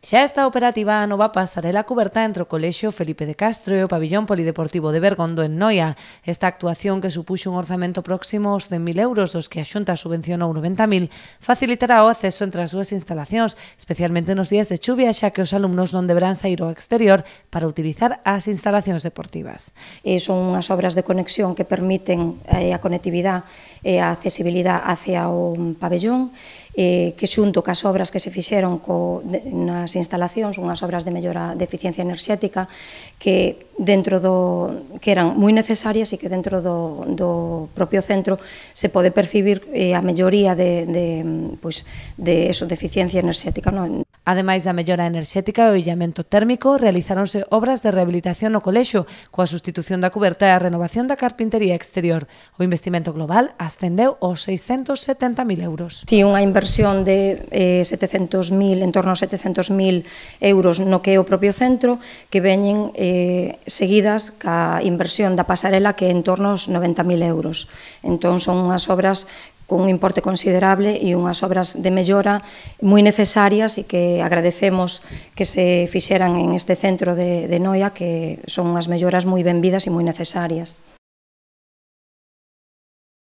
Xa está operativa a nova pasarela cuberta entre o Colexio Felipe de Castro e o Pabillón Polideportivo de Bergondo en Noia. Esta actuación, que supuxo un orzamento próximo aos 100.000 euros, dos que a Xunta subvencionou 90.000, facilitará o acceso entre as súas instalacións, especialmente nos días de chuvia, xa que os alumnos non deberán sair ao exterior para utilizar as instalacións deportivas. Son unhas obras de conexión que permiten a conectividade e a accesibilidade hacia o pabellón, que xunto cas obras que se fixeron nas instalacións, unhas obras de mellora de eficiencia enerxética que eran moi necesarias e que dentro do propio centro se pode percibir a melloría de eficiencia enerxética. Ademais da mellora enerxética e o illamento térmico, realizáronse obras de rehabilitación no colexio, coa sustitución da cuberta e a renovación da carpintería exterior. O investimento global ascendeu aos 670.000 euros. Si, unha inversión de en torno a 700.000 euros no que é o propio centro, que veñen seguidas ca inversión da pasarela, que é en torno aos 90.000 euros. Entón, son unhas obras con un importe considerable e unhas obras de mellora moi necesarias e que agradecemos que se fixeran en este centro de Noia, que son unhas melloras moi benvidas e moi necesarias.